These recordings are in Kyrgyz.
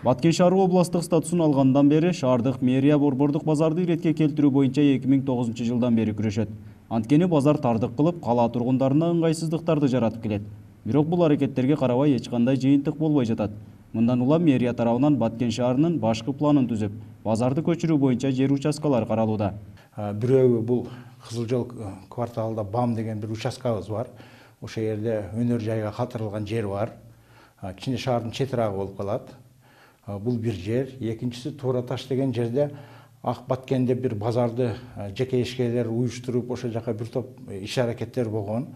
Баткен шаары областык статусун алгандан бери шаардык мэрия борбордук базарды иретке келтирүү боюнча 2009 жылдан бери күрөшөт. Анткени базар тардык кылып, кала тургундарына ыңгайсыздыктарды жаратып келет. Бирок бул аракеттерге карабай эч кандай жыйынтык болбой жатат. Мындан улам мэрия тарабынан Баткен шаарынын башкы планын түзүп, базарды көчүрүү боюнча жер участкалары каралууда. Бирөө бул Кызыл жол кварталында БАМ деген бир участкабыз бар. Ошол жерде өнөр жайга калтырылган жер бар. Кичине шаардын четирагы болуп калат. Бул бир жер. Экинчиси Туура таш деген жерде Ак Баткенде бир базарды жеке ишкерлер уюштуруп, ошол жака бир топ иш аракеттер болгон.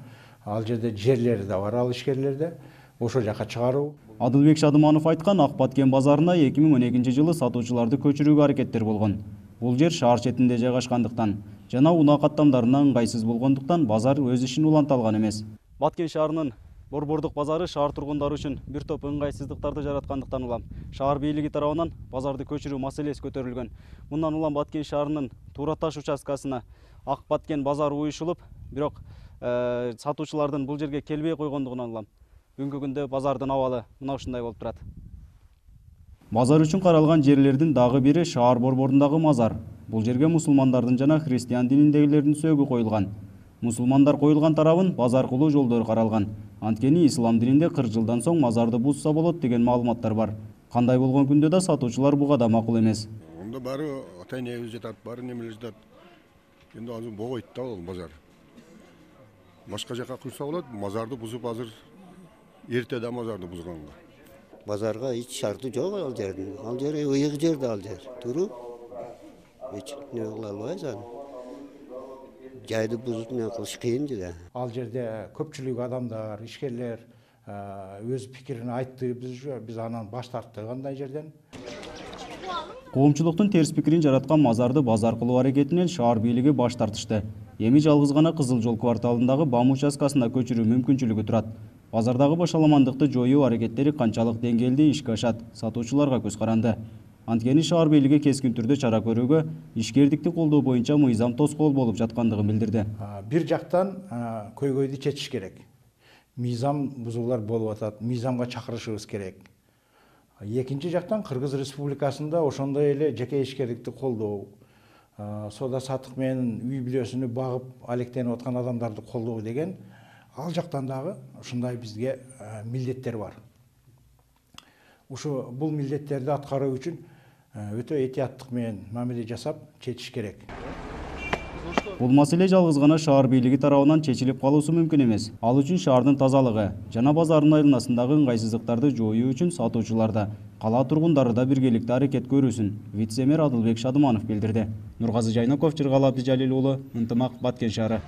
Ал жерде жерлери да бар, ал ишкерлерде. Ошол жака чыгаруу. Адылбек Шадыманов айткан Ак Баткен базарына 2012 жылы сатуучуларды көчүрүүгө аракеттер болгон. Бул жер шаар четинде жайгашкандыктан жана унаа каттамдарына ыңгайсыз болгондуктан базар өз ишин уланта алган эмес. Баткен шаарынын борбордук базары шаар тургундары үчүн бир топ ыңгайсыздыктарды жараткандыктан улам шаар бийлиги тарабынан базарды көчүрүү маселеси көтөрүлгөн. Мындан улам Баткен шаарынын Туура таш участкасына Ак Баткен базары уюшулуп, бирок сатуучулардын бул жерге келбей койгондугунан улам бүгүнкү күндө базардын абалы мына ушундай болуп турат. Базар үчүн каралган жерлердин дагы бири шаар борборундагы мазар. Бул жерге мусулмандардын жана христиан дининдегилердин сөөгү коюлган. Мусулмандар коюлган тарабын базар кылуу жолдору каралган. Анткени ислам дининде 40 жылдан соң мазарды бузса болот деген маалыматтар бар. Кандай болгон күндө да сатуучулар буга да макул эмес. Онда баары ата-энебиз жатат, баары немелер жатат. Энд азыр богойт да ал базар. Башка жака курса болот, мазарды бузуп азыр эрте да мазарды бузганга. Базарга эч шарты жок ал жердин. Ал жер ыйык жер да ал жер. Туруп эч не кыла албайбыз аны. Жайды бузуп не кылыш кыйын да. Ал жерде көпчүлүк адамдар, ишкерлер өз пикирин айтты. Биз анан баш тарттык андай жерден. Коомчулуктун терс пикирин жараткан мазарды базар кылуу аракетинен шаар бийлиги баш тартышты. Эми жалгыз гана Кызыл жол кварталындагы БАМ участкасына көчүрүү мүмкүнчүлүгү турат. Базардагы башаламандыкты жоюу аракеттери канчалык деңгээлде ишке ашат, сатуучуларга көз каранды. Анткени шаар бийлиги кескин түрдө чара көрүүгө, ишкердикти колдоо боюнча мыйзам тоскоол болуп жаткандыгын билдирди. Бир жактан көйгөйдү чечиш керек. Мыйзам бузуулар болуп атат, мыйзамга чакырышыбыз керек. Экинчи жактан Кыргыз Республикасында ошондой эле жеке ишкердикти колдоо, соода саттык менен үй бүлөсүнү багып алектенип аткан адамдарды колдоо деген ал жактан дагы ушундай бизге милдеттер бар. Ушу бул милдеттерди аткаруу үчүн өтө этияттык менен мамиле жасап чечиш керек. Бул маселе жалгыз гана шаар бийлиги тарабынан чечилип калуусу мүмкүн эмес. Ал үчүн шаардын тазалыгы жана базардын айланасындагы ыңгайсыздыктарды жоюу үчүн сатуучуларда, кала тургундары да биргеликте аракет көрүүсүн вице-мэр Адылбек Шадыманов билдирди. Нургазы Жайноков, Жыргал Абдижалил уулу, Ынтымак, Баткен шаары.